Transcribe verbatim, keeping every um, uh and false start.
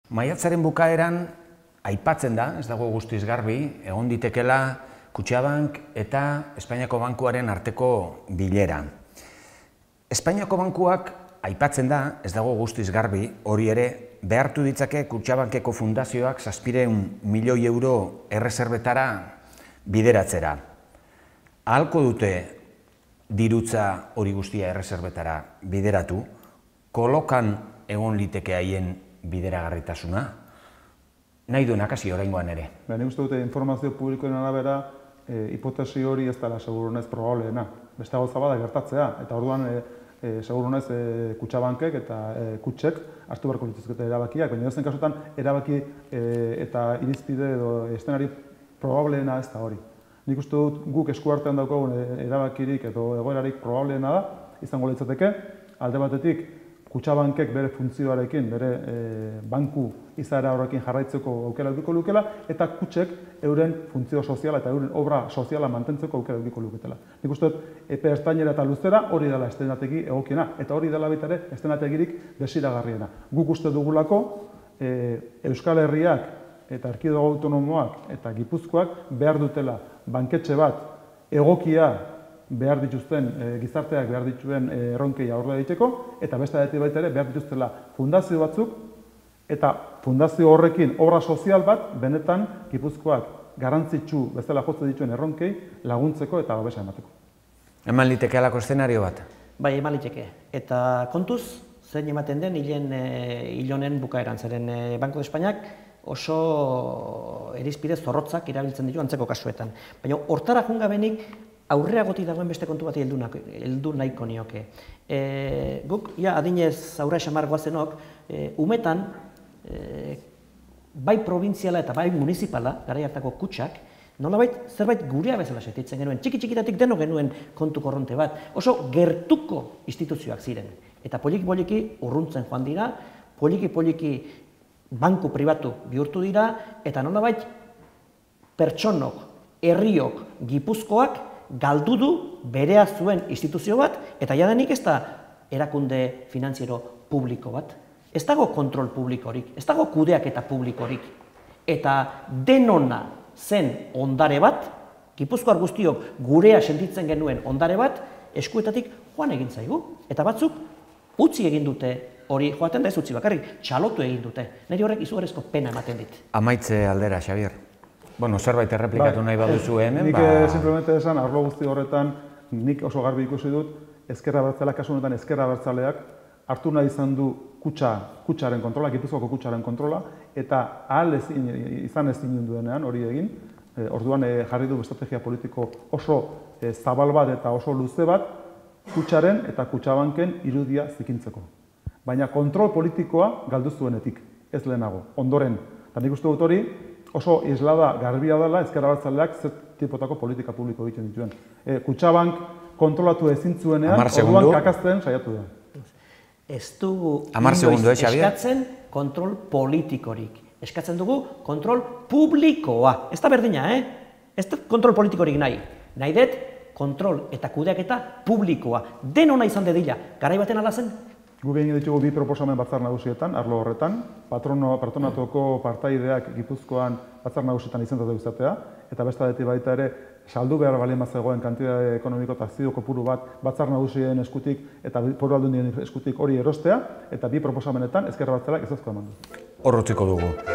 Maiatzaren bukaeran aipatzen da, ez dago guztiz garbi, egon ditekela Kutxabank eta Espainiako Bankuaren arteko bilera. Espainiako Bankuak aipatzen da, ez dago guztiz garbi, hori ere behartu ditzake Kutxabankeko fundazioak zazpiehun milioi euro erreserbetara bideratzera. Ahalko dute dirutza hori guztia erreserbetara bideratu, kolokan egon liteke haien bideragarritasuna, nahi duenak hasi oraingoan ere. Nik uste dute informazio publikoen arabera hipotesi hori ez dela seguruenez probableena. Beste gauza bada gertatzea, eta orduan seguruenez Kutxabankek eta kutxek hartu beharko lituzkete erabakiak, baina edozein kasutan erabaki eta irizpide edo eszenari probableena ez da hori. Nik uste dut guk esku artean daukagun erabakirik edo egoerarik probableena da, izango litzateke, alde batetik Kutxabankek bere funtzioarekin, bere banku izaera horrekin jarraitzeko aukera edukiko lukela, eta kutxek euren funtzio soziala eta euren obra soziala mantentzeko aukera edukiko luketela. Nik uste dut, epe ertainera eta luzera hori dela eszenategi egokiena, eta hori dela baita ere eszenategirik desiragarriena. Guk uste dugulako Euskal Herriak eta Erkidego Autonomoak eta Gipuzkoak behar dutela banketxe bat egokia behar dituzten, gizarteak behar dituen erronkei aurre egiteko, eta beste aldetik baita ere behar dituztela fundazio batzuk, eta fundazio horrekin obra sozial bat benetan Gipuzkoak garrantzitsu bezala jotzen dituen erronkei laguntzeko eta babesa emateko. Eman liteke alako eszenario bat? Bai, eman liteke. Eta kontuz, zein ematen den hilonen bukaeran, zeren Banco de Espainiak oso irizpide zorrotzak erabiltzen ditu antzeko kasuetan. Baina hortara jungabenik aurreagotik dagoen beste kontu bat heldu nahiko nioke. Guk, ja, adinez aurre esamar goazenok, umetan, bai probintziala eta bai municipala, garai hartako kutxak, nolabait zerbait gurea bezala sentitzen genuen, txiki-txikitatik deno genuen kontu korronte bat, oso gertuko instituzioak ziren. Eta poliki-poliki urruntzen joan dira, poliki-poliki banku pribatu bihurtu dira, eta nolabait pertsonok, herriok, Gipuzkoak, galdu du berea zuen instituzio bat, eta jadanik ez da erakunde finantziero publiko bat. Ez dago kontrol publikorik, ez dago kudeaketa publikorik. Eta denona zen ondare bat, Gipuzkoar guztiok gurea sentitzen genuen ondare bat, eskuetatik joan egin zaigu. Eta batzuk utzi egin dute hori, joaten da ez utzi bakarrik, txalotu egin dute. Neri horrek izugarrizko pena ematen dit. Amaitze aldera, Xabier. Bueno, zerbait erreplikatu nahi baduzu hemen, ba... Nik simplemente esan, arlo guzti horretan, nik oso garbi ikusi dut, ezkerra abertzaleak, kasu honetan ezkerra abertzaleak, hartu nahi izan du kutxa, kutxaren kontrola, Gipuzkoako kutxaren kontrola, eta ahal izan ezin duenean hori egin, orduan jarri du estrategia politiko oso zabal bat eta oso luze bat, kutxaren eta Kutxabanken irudia zikintzeko. Baina kontrol politikoa galdu zuenetik, ez lehenago, ondoren. Eta nik uste dut hori, oso islada garbia dela ezkerra abertzaleak zer tipotako politika publiko egiten dituen. Kutxabank kontrolatu ezin zuenean, orduan kakazten saiatu da. Ez dugu inoiz eskatzen kontrol politikorik. Eskatzen dugu kontrol publikoa. Ez da berdina, eh? Ez da kontrol politikorik nahi. Nahi dut kontrol eta kudeaketa publikoa. Denona izan dedila. Garai baten ala zen? Guk egin ditugu bi proposamen batzar nagusietan, arlo horretan, patronatuko partaideak Gipuzkoan batzar nagusietan izendatu izatea, eta beste aldetik baita ere, saldu behar balien bat zegoen kantitate ekonomiko eta akzio kopuru bat batzar nagusien eskutik eta foru aldundien eskutik hori erostea, eta bi proposamenetan ezkerra abertzaleak ezezkoa eman du. Hor utziko dugu.